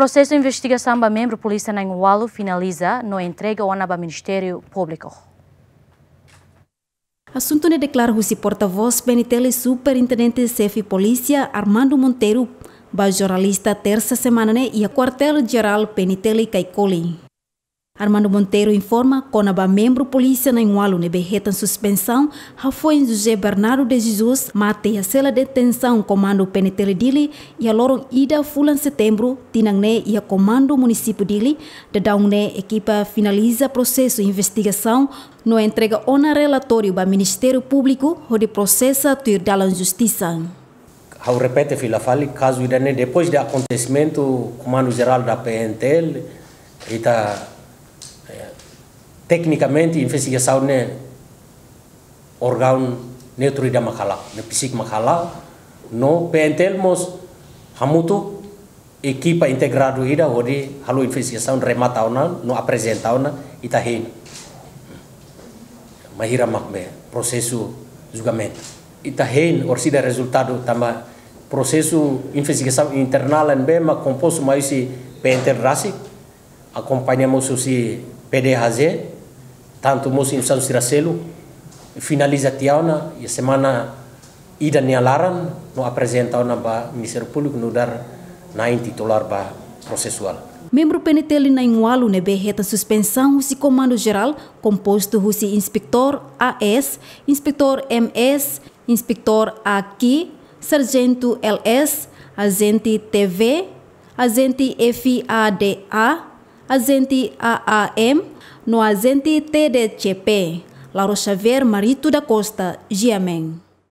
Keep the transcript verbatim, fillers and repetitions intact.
Prosesu investigasaun ba membru polísia na'in-ualu finaliza no entrega ona ba Ministériu Públiku. Asuntu ne'e deklara husi portavós P N T L Superintendente Xefe Polísia Armando Monteiro ba jornalista tersa semana ne'e iha Kuartél Jerál P N T L Caicoli. Armando Monteiro informa kona-ba membru polísia na'in-ualu ne'ebé hetan suspensaun, hafoin José Bernardo de Jesus mate iha sela detensaun Komandu P N T L Dili iha loron ida fulan Setembru tinan ne'e iha Komandu Munisípiu Dili. Daudaun ne'e ekipa finaliza prosesu investigasaun no entrega ona relatóriu ba Ministériu Públiku hodi prosesa tuir dalan justisa. Ha'u repete fila fali, kazu ida-ne'e, depois de akontesimentu, Komandu Jerál da P N T L, ita, eh, teknikamente investigasaun ne'e órgaun neutru ida mak hala'o, ne'e PCIC mak hala'o, no P N T L mós hamutuk ekipa integradu ida hodi halo investigasaun, remata ona no aprezenta ona ita hein. Bainhira mak be prosesu julgamentu. Ita hein orsida rezultadu tanba prosesu investigasaun internál ne'ebé mak kompostu mai husi P N T L rasik, akompaña mós husi P D H Z, tantu mós instituisaun sira seluk, finaliza tiha ona iha semana ida nia laran no aprezenta ona ba Ministériu Públiku nu'udar na'in titulár ba prosesuál. Membru P N T L na'in-ualu ne'ebé hetan suspensaun husi Komandu Jerál, kompostu husi Inspetór A S, Inspetór M S, Inspetór A Q, Sarjentu L S, Ajente T V, Ajente F A D A, Ajente A A M, no Ajente T D C P. Lauro Xavier, Marito da Costa, G M N.